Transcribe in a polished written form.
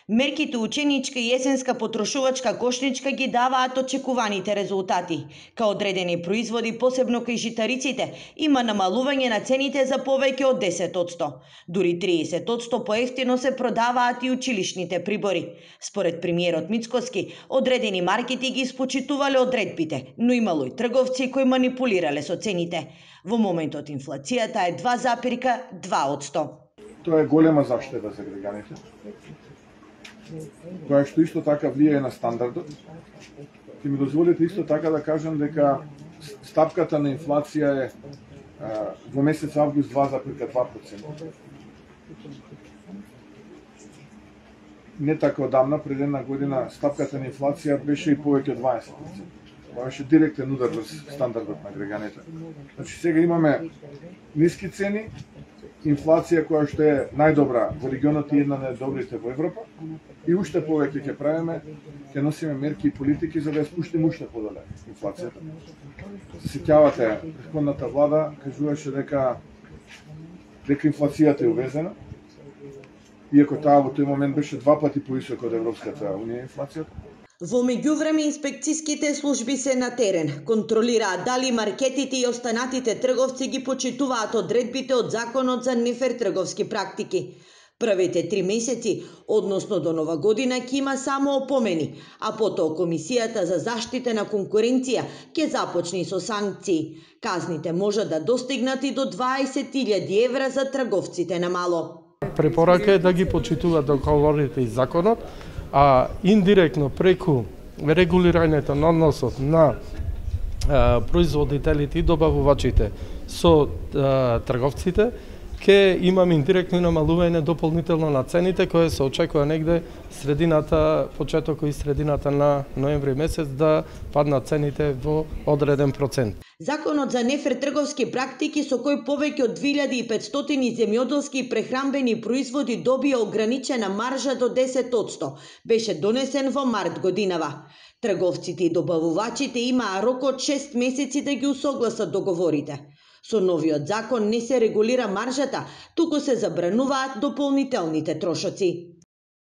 Мерките ученичка и есенска потрошувачка кошничка ги даваат очекуваните резултати. Као одредени производи, посебно кај житариците, има намалување на цените за повеќе од 10%. Дури 30% поевтино се продаваат и училишните прибори. Според премиерот Мицкоски, одредени маркети ги испочитувале одредбите, но имало и трговци кои манипулирале со цените. Во моментот инфлацијата е 2,2%. Тоа е голема заштеда за граѓаните, тоа што исто така влијае на стандардот. Ќе ми дозволите исто така да кажам дека стапката на инфлација е во месец август 2,2%. Не така одамна, пред една година, стапката на инфлација беше и повеќе од 20%. Тоа беше директен удар врз стандардот на граѓаните. Значи сега имаме ниски цени, инфлација која што е најдобра во регионот и една од најдобрите во Европа, и уште повеќе ќе правиме, ќе носиме мерки и политики за да ја спуштиме уште подоле инфлацијата. Се сеќавате, претходната влада кажуваше дека инфлацијата е увезена, иако таа во тој момент беше 2 пати повисока од Европската унија инфлацијата. Во меѓувреме инспекцијските служби се на терен, контролираат дали маркетите и останатите трговци ги почитуваат одредбите од Законот за нефер трговски практики. Првите 3 месеци, односно до Нова година, ќе има само опомени, а потоа Комисијата за заштита на конкуренција ќе започне со санкции. Казните можат да достигнат и до 20.000 евра за трговците на мало. Препорака е да ги почитуваат договорите и законот, а индиректно преку регулирањето на односот на производителите и добавувачите со трговците, ќе имаме индиректно намалување дополнително на цените, кое се очекува негде средината, почетокот и средината на ноември месец да паднат цените во одреден процент. Законот за нефер трговски практики со кој повеќе од 2500 земјоделски и прехранбени производи добија ограничена маржа до 10%, беше донесен во март годинава. Трговците и добавувачите имаа рок од 6 месеци да ги усогласат договорите. Со новиот закон не се регулира маржата, туку се забрануваат дополнителните трошоци.